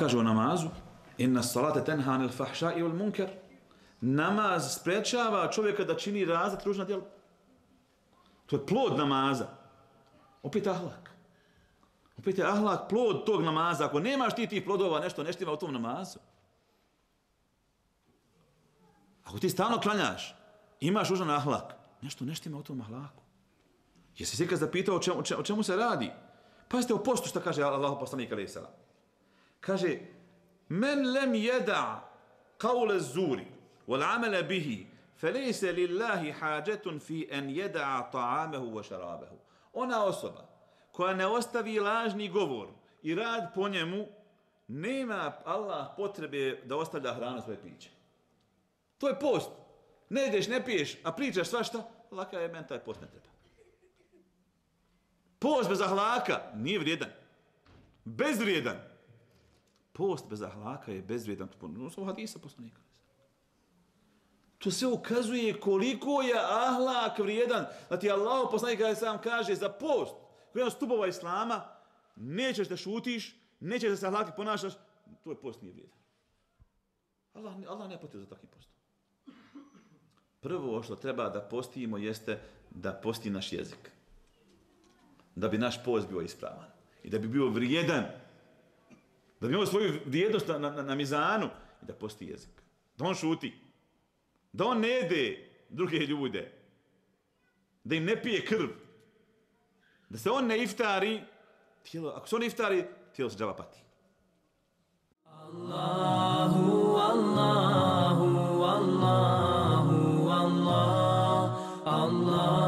kaže o namazu: inna salate tenha anil fahša'i wal munkar. Namaz sprečava čovjeka da čini razna ružna djela. To je plod namaza. Opet ahlak. Opet je ahlak plod tog namaza. Ako nemaš ti tih plodova, nešto ne štima u tom namazu. Ako ti stalno klanjaš, imaš ružan ahlak, nešto ne štima u tom ahlaku. Jesi se ikad zapitao o čemu se radi? Pazite o postu što kaže Allahu poslanik alejhi selam. Kaže: men lem yeda qawla az-zuri wal 'amala bihi falaysa lillahi hajatun fi an yeda ta'amahu wa sharabahu. Ona osoba koja ne ostavi lažni govor i rad po njemu, nema Allah potrebe da ostavlja hranu svoje piće. To je post. Ne ideš, ne piješ, a pričaš svašta, laka je, meni taj post ne treba. Post bez ahlaka nije vrijedan. Bezvrijedan. Post bez ahlaka je bezvrijedan. To hadisa poslanika. To sve ukazuje koliko je ahlak vrijedan. Znači Allah poslanika sam kaže za post, koji je od stubova islama, nećeš da šutiš, nećeš da se ahlaki ponašaš, to je post nije vrijedan. Allah ne potrebuje za takvi post. Prvo što treba da postimo jeste da posti naš jezik. Da bi naš post bio ispravan. I da bi bio vrijedan. Da bi imao svoju vrijednost na mizanu. I da posti jezik. Da on šuti. Da on ne jede druge ljude. Da im ne pije krv. Da se on ne iftari. Ako se on iftari, tijelo se džaba pati. Allahu, Allahu, Allahu, Allah, Allah.